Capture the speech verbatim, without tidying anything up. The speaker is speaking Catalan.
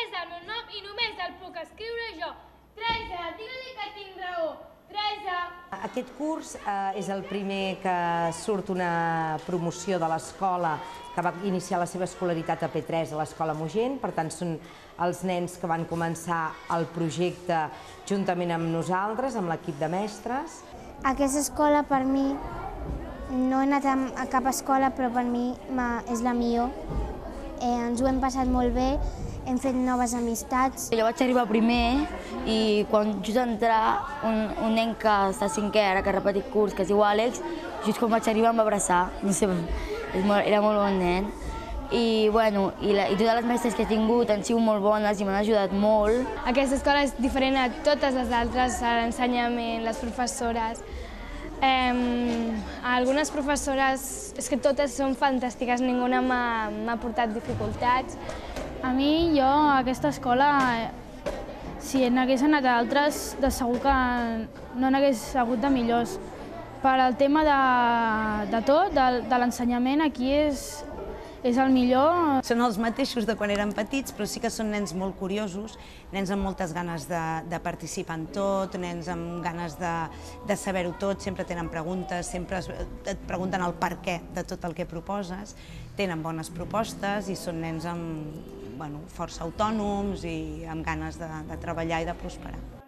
és el meu nom i només el puc escriure jo. Teresa, digue-li que tinc raó. Teresa. Aquest curs eh, és el primer que surt una promoció de l'escola que va iniciar la seva escolaritat a P tres a l'escola Mogent, per tant són els nens que van començar el projecte juntament amb nosaltres, amb l'equip de mestres. Aquesta escola per mi, no he anat a cap escola, però per mi és la millor. Eh, ens ho hem passat molt bé, hem fet noves amistats. Jo vaig arribar primer i quan just entrar, un, un nen que està a cinquè, ara que ha repetit curs, que es diu Àlex, just quan vaig arribar em va abraçar, no sé, era molt bon nen. I, bueno, i, la, i totes les mestres que he tingut han sigut molt bones i m'han ajudat molt. Aquesta escola és diferent a totes les altres, l'ensenyament, les professores. Eh, algunes professores, és que totes són fantàstiques, ninguna m'ha portat dificultats. A mi, jo, a aquesta escola, si n'hagués anat a altres, de segur que no n'hagués hagut de millors. Per al tema de, de tot, de, de l'ensenyament, aquí és, és el millor. Són els mateixos de quan eren petits, però sí que són nens molt curiosos, nens amb moltes ganes de, de participar en tot, nens amb ganes de, de saber-ho tot, sempre tenen preguntes, sempre et pregunten el per què de tot el que proposes, tenen bones propostes i són nens amb, bueno, força autònoms i amb ganes de, de treballar i de prosperar.